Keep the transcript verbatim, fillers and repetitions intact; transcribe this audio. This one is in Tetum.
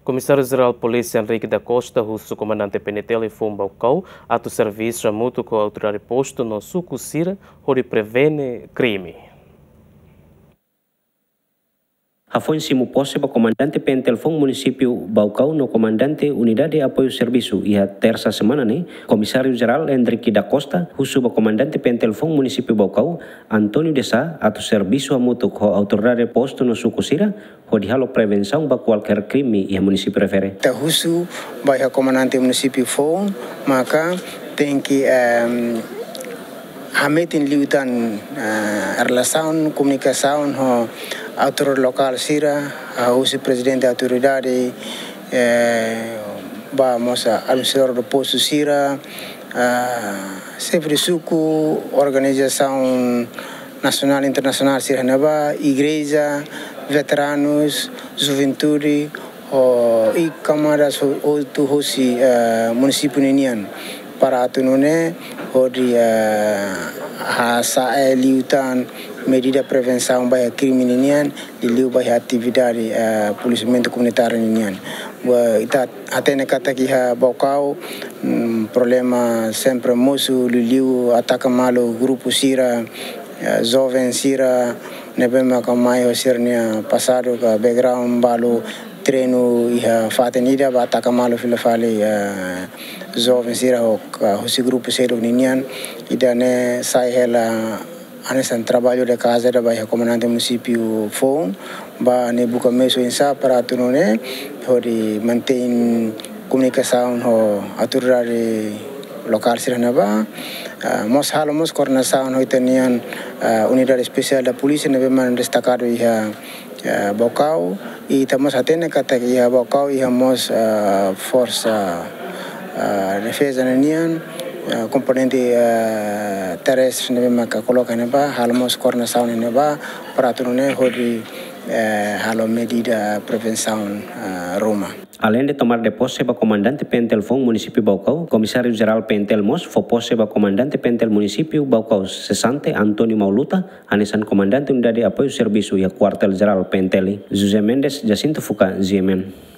Komisáriu Jerál Polísia Henrique da Costa husu komandante P N T L foun Baucau atu servisu hamutuk ho autoridade postu no suku sira hodi prevene krime. Hafoin simu pose ba komandante P N T L foun munisípiu Baucau no komandante Unidade Apoiu Servisu iha tersa semana ne'e, Komisáriu Jerál Henrique da Costa husu ba komandante P N T L foun munisípiu Baucau, António de Sá, atu servisu hamutuk ho autoridade postu no suku sira hodi halo prevensaun ba kualkér krime iha munisípiu refere. Ita husu ba iha komandante munisípiu foun, maka tenke, em, hametin liután, eh, relasaun, komunikasaun ho autoridade lokál sira, ah, husi prezidente autoridade, eh, ba mós administradór postu sira, ah, xefe suku, organizasaun nasionál, internasionál sira ne'ebá, igreja, veteranus, juventude, ho, i kamadas ho-, hotu hosi, eh, munisípiu ninian. Para atu nune'e, hodi, eh, hasa'e liután medida prevensaun ba iha krime ninian, liuliu ba iha atividade, eh, polisiamentu komunitáriu ninian. Ba ita hatene katak iha Baucau, mm, problema sempre mosu, liuliu ataka malu grupu sira, eh, joven sira, ne'ebé maka mai ho sira-nia pasadu ka background balu treinu iha fatin ida ba ataka malu fila fali, eh, joven sira ho ka husi grupu seluk ninian, ida-ne'e sai hela hanesan traballu de casa da ba iha komandante munisípiu foun, ba ne'e buka meius oinsá para atu nune'e hodi mantein komunikasaun ho autoridade lokál sira ne'ebá. Ah, mós halo mós koordenasaun ho ita-nian, ah, unidade espesiál da polísia ne'ebé mak destakadu iha, ah, Baucau. I ita mós hatene katak iha Baucau iha mós, ah, forsa, ah, defeza ninian, ah, komponente, ah, terrestre ne'ebé maka koloka ne'ebá, halo mós koordenasaun ne'ebá, para atu nune'e hodi, eh, halo medida prevensaun, ah, ruma. Além de tomar de posse ba komandante P N T L foun munisípiu Baucau, Komisáriu Jerál P N T L mós fó posse ba komandante P N T L munisípiu Baucau sesante António Mauluta, hanesan komandante Unidade Apoiu Servisu iha Kuartél Jerál P N T L. José Mendes, Jacinto Fuca, G M N.